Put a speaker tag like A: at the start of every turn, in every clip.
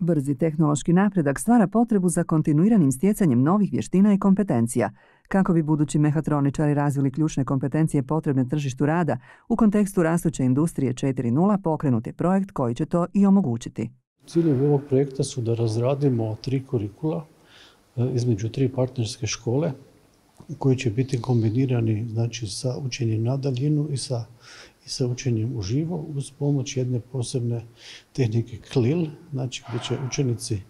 A: Brzi tehnološki napredak stvara potrebu za kontinuiranim stjecanjem novih vještina i kompetencija. Kako bi budući mehatroničari razvili ključne kompetencije potrebne tržištu rada, u kontekstu rastuće industrije 4.0 pokrenut je projekt koji će to i omogućiti.
B: Ciljevi ovog projekta su da razradimo 3 kurikula između 3 partnerske škole koji će biti kombinirani, znači, sa učenjem na daljinu i sa učenjem uživo uz pomoć jedne posebne tehnike CLIL, znači gdje će učenici,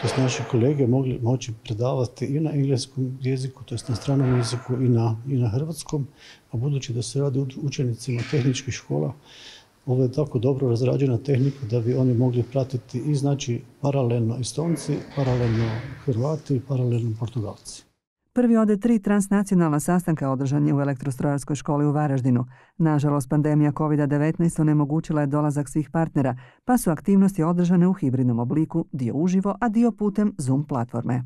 B: to naši kolege, moći predavati i na engleskom jeziku, to na stranom jeziku i na hrvatskom, a budući da se radi učenicima tehničkih škola, ovo je tako dobro razrađena tehnika da bi oni mogli pratiti i, znači, paralelno Estonci, paralelno Hrvati i paralelno Portugalci.
A: Prvi od 3 transnacionalna sastanka održan je u Elektrostrojarskoj školi u Varaždinu. Nažalost, pandemija COVID-19 onemogućila je dolazak svih partnera, pa su aktivnosti održane u hibridnom obliku, dio uživo, a dio putem Zoom platforme.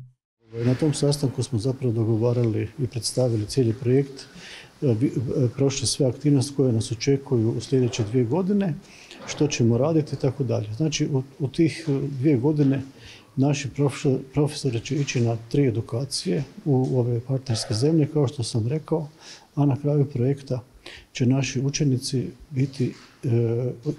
B: Na tom sastanku smo zapravo dogovarali i predstavili cijeli projekt, prošli sve aktivnosti koje nas očekuju u sljedeće 2 godine, što ćemo raditi i tako dalje. Znači, u tih 2 godine naši profesori će ići na 3 edukacije u ove partnerske zemlje, kao što sam rekao, a na kraju projekta će naši učenici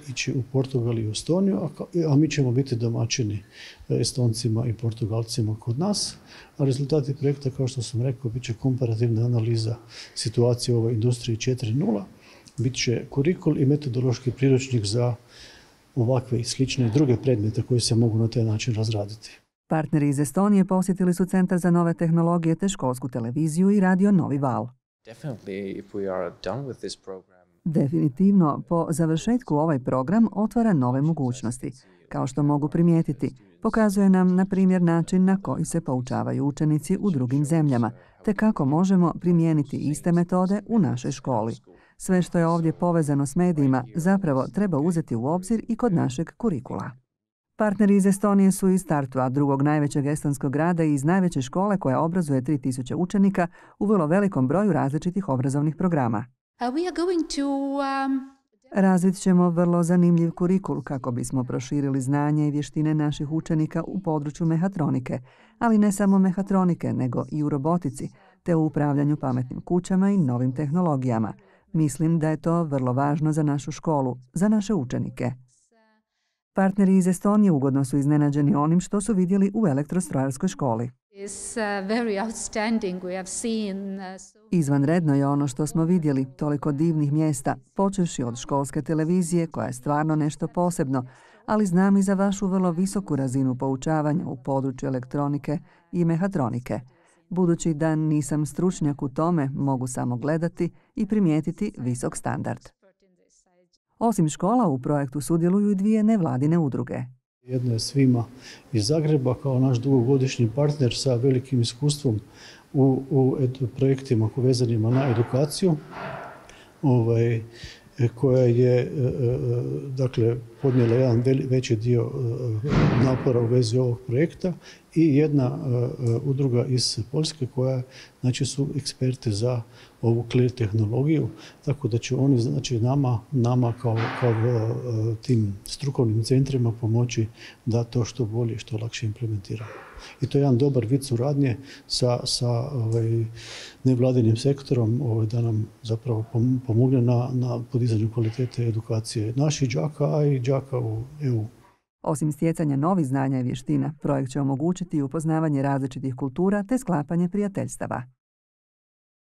B: ići u Portugal i u Estoniju, a mi ćemo biti domaćini Estoncima i Portugalcima kod nas. A rezultati projekta, kao što sam rekao, bit će komparativna analiza situacije u ovoj industriji 4.0, bit će kurikul i metodološki priručnik za ovakve i slične druge predmete koji se mogu na taj način razraditi.
A: Partneri iz Estonije posjetili su Centar za nove tehnologije te školsku televiziju i radio Novi val. Definitivno, po završetku ovaj program otvara nove mogućnosti. Kao što mogu primijetiti, pokazuje nam, na primjer, način na koji se poučavaju učenici u drugim zemljama, te kako možemo primijeniti iste metode u našoj školi. Sve što je ovdje povezano s medijima zapravo treba uzeti u obzir i kod našeg kurikula. Partneri iz Estonije su iz Tartua, drugog najvećeg estonskog grada i iz najveće škole koja obrazuje 3000 učenika u vrlo velikom broju različitih obrazovnih programa. Razvit ćemo vrlo zanimljiv kurikul kako bismo proširili znanje i vještine naših učenika u području mehatronike, ali ne samo mehatronike, nego i u robotici, te u upravljanju pametnim kućama i novim tehnologijama. Mislim da je to vrlo važno za našu školu, za naše učenike. Partneri iz Estonije ugodno su iznenađeni onim što su vidjeli u Elektrostrojarskoj školi. Izvanredno je ono što smo vidjeli, toliko divnih mjesta, počevši od školske televizije koja je stvarno nešto posebno, ali znam i za vašu vrlo visoku razinu poučavanja u području elektronike i mehatronike. Budući da nisam stručnjak u tome, mogu samo gledati i primijetiti visok standard. Osim škola, u projektu sudjeluju i 2 nevladine udruge.
B: Jedna je Svima iz Zagreba kao naš dugogodišnji partner sa velikim iskustvom u projektima vezanima na edukaciju, koja je podnijela jedan veći dio napora u vezi ovog projekta, i jedna udruga iz Poljske koja, znači, su eksperti za ovu CLIL tehnologiju, tako da će oni, znači, nama kao tim strukovnim centrima pomoći da to što bolje i što lakše implementiramo. I to je jedan dobar vid suradnje sa nevladinim sektorom da nam zapravo pomogne na podizanju kvalitete edukacije naših đaka, a i đaka u EU.
A: Osim stjecanja novih znanja i vještina, projekt će omogućiti upoznavanje različitih kultura te sklapanje prijateljstava.